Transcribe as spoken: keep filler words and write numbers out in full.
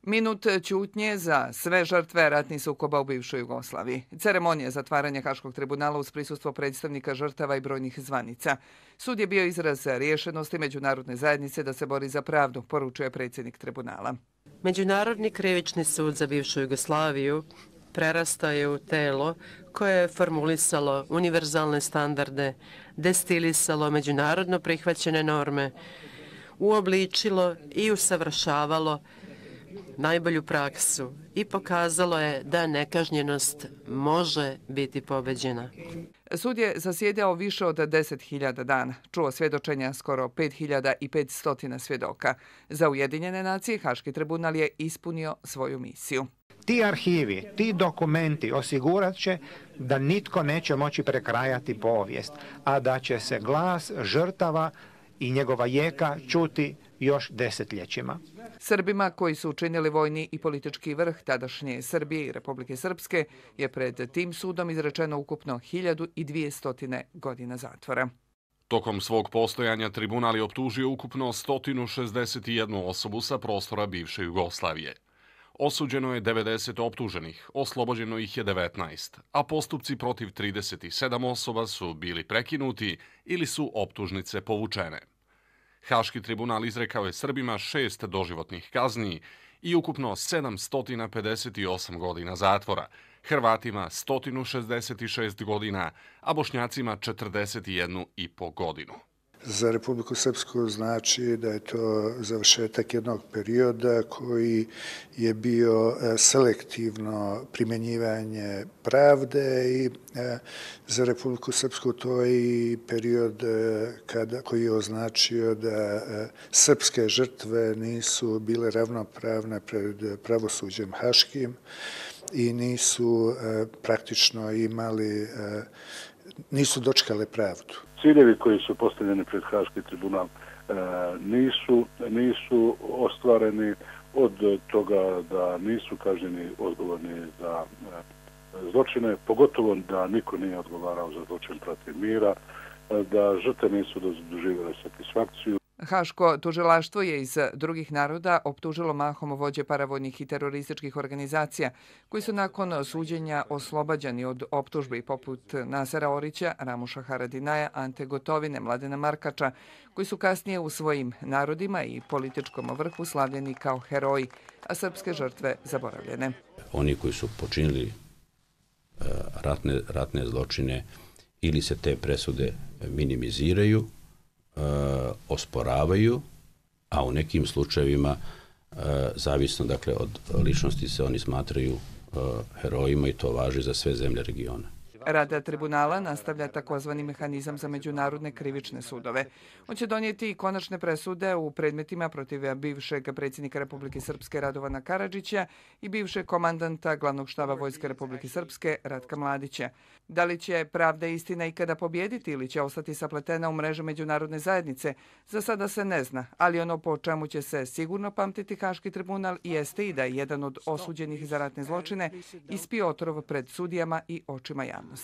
Minut ćutnje za sve žrtve ratnih sukoba u bivšoj Jugoslaviji. Ceremonija zatvaranja Haškog tribunala uz prisustvo predstavnika žrtava i brojnih zvanica. Sud je bio izraz rješenosti međunarodne zajednice da se bori za pravdu, poručuje predsjednik tribunala. Međunarodni krivični sud za bivšu Jugoslaviju prerastao je u telo koje je formulisalo univerzalne standarde, destilisalo međunarodno prihvaćene norme, uobličilo i usavršavalo najbolju praksu i pokazalo je da nekažnjenost može biti pobeđena. Sud je zasjedao više od deset hiljada dana, čuo svjedočenja skoro pet hiljada petsto svjedoka. Za Ujedinjene nacije Haški tribunal je ispunio svoju misiju. Ti arhivi, ti dokumenti osigurat će da nitko neće moći prekrajati povijest, a da će se glas žrtava i njegova jeka čuti još desetljećima. Srbima koji su učinili vojni i politički vrh tadašnje Srbije i Republike Srpske je pred tim sudom izrečeno ukupno hiljadu dvjesto godina zatvora. Tokom svog postojanja tribunal je optužio ukupno sto šezdeset jednu osobu sa prostora bivše Jugoslavije. Osuđeno je devedeset optuženih, oslobođeno ih je devetnaest, a postupci protiv trideset sedam osoba su bili prekinuti ili su optužnice povučene. Haški tribunal izrekao je Srbima šest doživotnih kazni i ukupno sedamsto pedeset osam godina zatvora, Hrvatima sto šezdeset šest godina, a Bošnjacima četrdeset jednu i po godinu. Za Republiku Srpsku znači da je to završetak jednog perioda koji je bio selektivno primjenjivanje pravde i za Republiku Srpsku to je i period kada, koji je označio da srpske žrtve nisu bile ravnopravne pred pravosuđem haškim i nisu praktično imali, nisu dočekale pravdu. Ciljevi koji su postavljeni pred Haški tribunal nisu, nisu ostvareni, od toga da nisu kažnjeni odgovorni za zločine, pogotovo da niko nije odgovarao za zločin protiv mira, da žrtve nisu doživjele satisfakciju. Haško tužilaštvo je iz drugih naroda optužilo mahom vođe paravojnih i terorističkih organizacija, koji su nakon suđenja oslobađani od optužbi poput Nasera Orića, Ramuša Haradinaja, Ante Gotovine, Mladena Markača, koji su kasnije u svojim narodima i političkom vrhu slavljeni kao heroji, a srpske žrtve zaboravljene. Oni koji su počinili ratne, ratne zločine ili se te presude minimiziraju, osporavaju, a u nekim slučajevima, zavisno dakle od ličnosti, se oni smatraju herojima i to važi za sve zemlje regiona. Rad tribunala nastavlja takozvani mehanizam za međunarodne krivične sudove. On će donijeti i konačne presude u predmetima protiv bivšeg predsjednika Republike Srpske Radovana Karadžića i bivšeg komandanta glavnog štaba Vojske Republike Srpske Ratka Mladića. Da li će pravda i istina ikada pobijediti ili će ostati sapletena u mrežu međunarodne zajednice, za sada se ne zna, ali ono po čemu će se sigurno pamtiti Haški tribunal jeste i da je jedan od osuđenih za ratne zločine ispio otrov pred sudijama i očima javnosti.